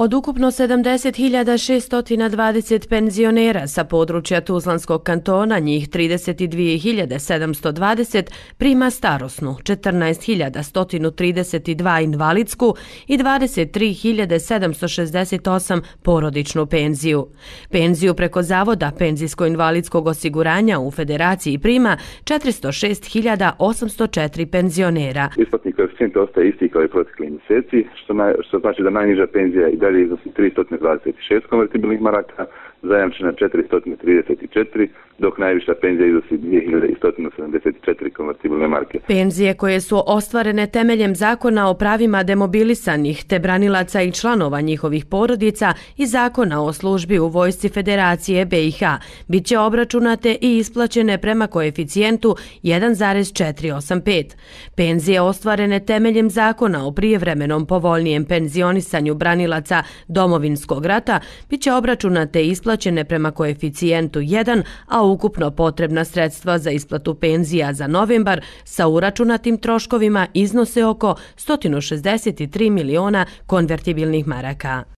Od ukupno 70.620 penzionera sa područja Tuzlanskog kantona, njih 32.720 prima starosnu, 14.132 invalidsku i 23.768 porodičnu penziju. Penziju preko Zavoda penzijsko-invalidskog osiguranja u Federaciji prima 406.804 penzionera. Isplatni koeficijent ostaje isti kao i protekli mjeseci, što znači da najniža penzija i dalje iznosi 326 konvertibilnih maraka, zajamčena 434, dok najviša penzija iznosi 2174 konvertibilne marke. Penzije koje su ostvarene temeljem Zakona o pravima demobilisanih te branilaca i članova njihovih porodica i Zakona o službi u Vojsci Federacije BiH bit će obračunate i isplaćene prema koeficijentu 1,485. Penzije ostvarene temeljem Zakona o prijevremenom povoljnijem penzionisanju branilaca Domovinskog rata bit će obračunate i isplaćene prema koeficijentu 1, a ukupno potrebna sredstva za isplatu penzija za novembar sa uračunatim troškovima iznose oko 163 miliona konvertibilnih maraka.